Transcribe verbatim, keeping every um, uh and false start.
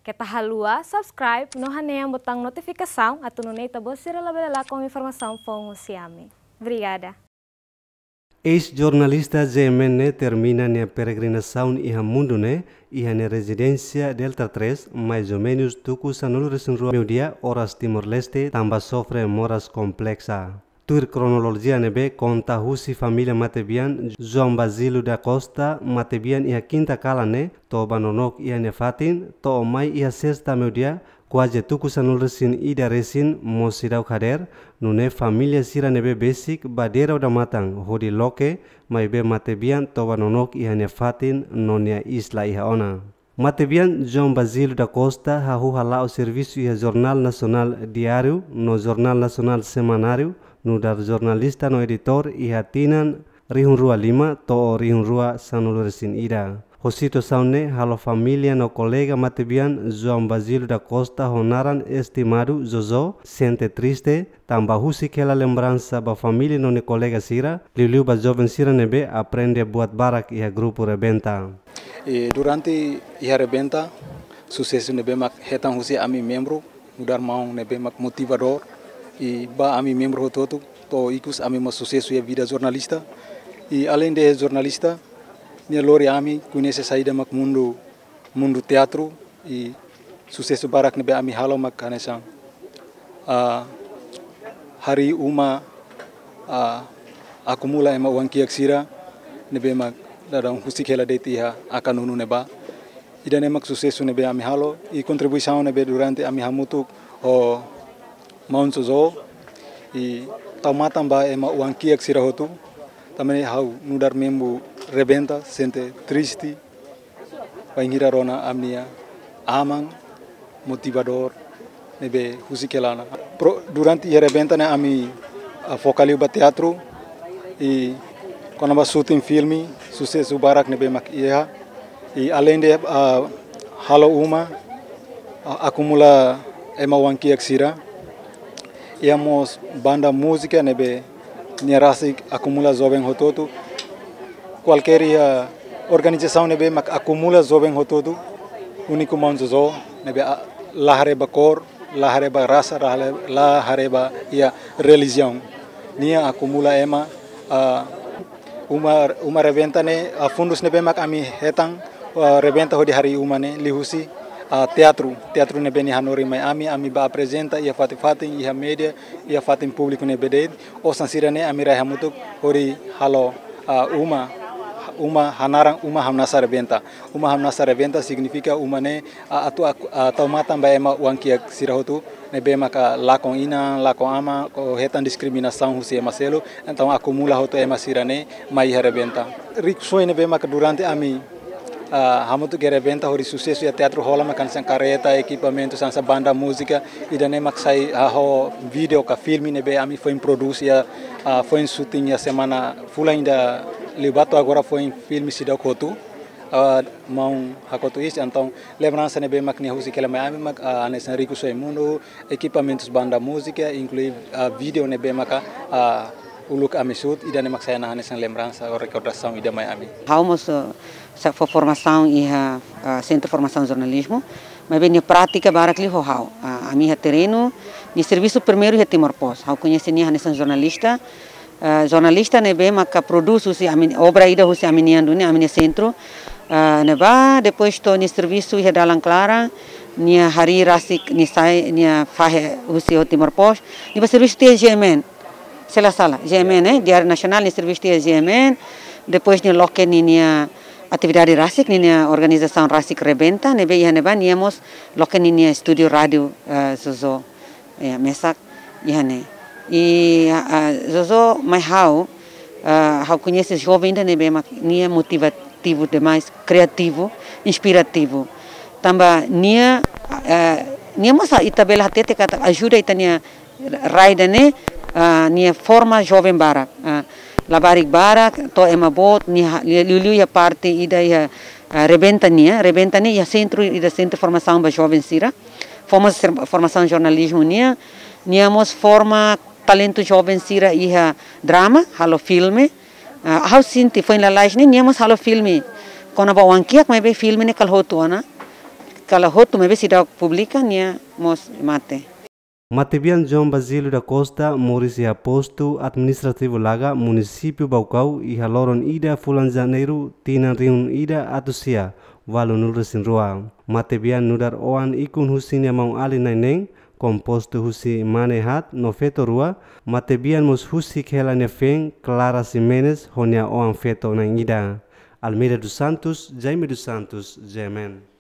Keta haluha subscribe no hanehan butaun notifikasaun atu nune'e ita-boot sira labele lakon informasaun foun husi ami. Obrigada. Eis-jornalista J M N ne'e termina nia peregrinasaun iha mundu ne'e, iha nia rezidénsia Delta três, mais ou menus tuku sanulu-resin-rua meiudia, oras Timor-Leste, tanba sofre moras kompleksa. Tuir kronolojia ne'ebé konta husi família matebian João Basílio da Costa, matebian iha kinta kalan ne'e, toba nonook iha nia fatin, to'o mai iha sesta meiudia, kuaze tuku sanulu-resin-ida resin mós seidauk hadeer, nune'e família sira ne'ebé besik ba Dera Odamatan hodi loke, maibé matebian toba nonook iha nia fatin no nia iis la iha ona. Matebian João Basílio da Costa hahú hala'o servisu iha Jornál Nasionál Diáriu no Jornál Nasionál Semanáriu, nu'udar jornalista no editór iha tinan rihun rua lima to'o rihun rua sanulu-resin-ida. Ho situasaun ne'e halo família no kolega matebian João Basílio da Costa ho naran estimadu Jojo sente triste, tanba husik hela lembransa ba família no nia kolega sira, liuliu ba joven sira ne'ebé aprende buat barak iha grupu Rebenta. I durante iha Rebenta, susesu ne'ebé mak hetan husi ami membru, nu'udar maun ne'ebé mak motivadór, i ba ami membru hotu-hotu, to'o ikus ami mós susesu iha vida jornalista. I aleinde jornalista, nia lori ami koñese saida mak mundu, mundu teatru, i susesu barak ne'ebé ami halo mak hanesan, ah, harii uma, ah, akumula ema oan-kiak sira ne'ebé mak daudaun husik hela de'it iha Akanunu ne'ebá. Ida-ne'e mak susesu ne'ebé ami halo, i kontribuisaun ne'ebé durante ami hamutuk ho maun Jojo, i tau matan ba ema oan-kiak sira hotu, tanba ne'e ha'u nu'udar membru Rebenta sente triste, bainhira rona ami-nia aman motivadór ne'ebé husik hela ona. Pro-, durante iha Rebenta ne'e ami, ah, foka liu ba teatru, i kona-ba shooting filme, susesu barak ne'ebé mak iha. I aleinde, ah, halo uma, ah, akumula ema oan-kiak sira, iha mós banda múzika ne'ebé nia rasik akumula joven hotu-hotu. Kualkér iha organizasaun ne'ebé mak akumula joven hotu-hotu, úniku maun Jojo ne'ebé, ah, la haree ba kór, la haree ba rasa, la haree, la haree ba iha relijiaun. Nia akumula ema, ah, uma, uma Rebenta ne'e, ah, fundus ne'ebé mak ami hetan, ah, Rebenta hodi harii uma ne'e liuhusi, ah, teatru. Teatru ne'ebé nia hanorin mai ami, ami bá aprezenta iha fatin-fatin, iha média, iha fatin públiku ne'ebé de'it. Osan sira-ne'e ami rai hamutuk hodi halo, ah, uma, uma hanaran Uma Hamnasa Rebenta. Uma Hamnasa Rebenta signifika uma ne'e, ah, atu ak-, ah, tau matan ba ema oan-kiak sira hotu ne'ebé maka lakon inan, lakon aman, ou hetan diskriminasaun husi ema seluk, entaun akumula hotu ema sira-ne'e mai iha Rebenta. Rikusoin ne'ebé maka durante ami, ah, hamutuk iha Rebenta hodi susesu iha teatru hola mak hanesan karreta, ekipamentu, hanesan banda múzika, ida-ne'e mak sai, ah, ho vídeo ka filme ne'ebé ami foin prodús iha, ah, foin shooting iha semana fulan ida liubá to'o agora foin filme seidauk hotu, ah, maun hakotu iis, entaun lembransa ne'ebé mak nia husik hela mai ami mak, ah, hanesan rikusoin mundu, ekipamentus banda múzika, inklui, ah, vídeo ne'ebé maka, ah, uluk ami shoot, ida-ne'e mak sai ona hanesan lembransa ou rekordasaun ida mai ami. Ha'u mós, ah, sa-, fó formasaun iha, ah, Sentru Formasaun Jornalizmu, maibé nia prátika barak liu ho ha'u. Ah, ami iha terrenu, nia servisu primeiru iha Timor Post. Ha'u koñese nia hanesan jornalista, ah, jornalista ne'ebé maka prodús husi ami, obra ida husi ami-nian duni, ami-nia sentru. Ah, ne'ebá, depois to'o nia servisu iha dalan klaran, nia harii rasik, nia sai, nia fahe husi ho Timor Post, nia bá servisu tiha J M N. Se la sala, J M N, eh, Diáriu Nasionál, nia servisu tiha J M N. Depois nia loke ninia atividade rasik, ninia organizasaun rasik Rebenta, ne'ebé iha ne'ebá nia mós loke ninia estúdiu rádiu, eh, Jojo. Ya, mesak iha ne'e. I, ah, ah, Jojo mai ha'u, ah, ha'u koñese joven ida ne'ebé mak nia motivativu demais, kriativu, inspirativu. Tanba nia, ah, nia mós ita bele hatete katak ajuda ita-nia rai ida-ne'e, ah, nia forma joven barak, ah, labarik barak, to'o ema boot, nia ha-, lia-, liuliu iha parte ida iha, ah, Rebenta nian, Rebenta ne'e iha sentru ida, sentru formasaun ba joven sira. Forma ser-, formasaun jornalizmu nian, nia mós forma talentu joven sira iha drama, halo filme. Ah, ha'u sente foin lalais ne'e, nia mós halo filme kona-ba oan-kiak, maibé filme ne'e kala hotu ona. Kala hotu maibé seidauk publika, nia mós mate. Matebian João Basílio da Costa moris iha postu administrativu Laga, munisípiu Baucau, iha loron ida fulan Janeiru, tinan rihun ida atus sia ualu nulu resin rua. Matebian nu'udar oan ikun husi nia maun-alin na'in neen, kompostu husi mane haat no feto rua. Matebian mós husik hela nia feen Clara Ximenes ho nia oan feto na'in ida. Almeida dos Santos, Jaime dos Santos, G M N.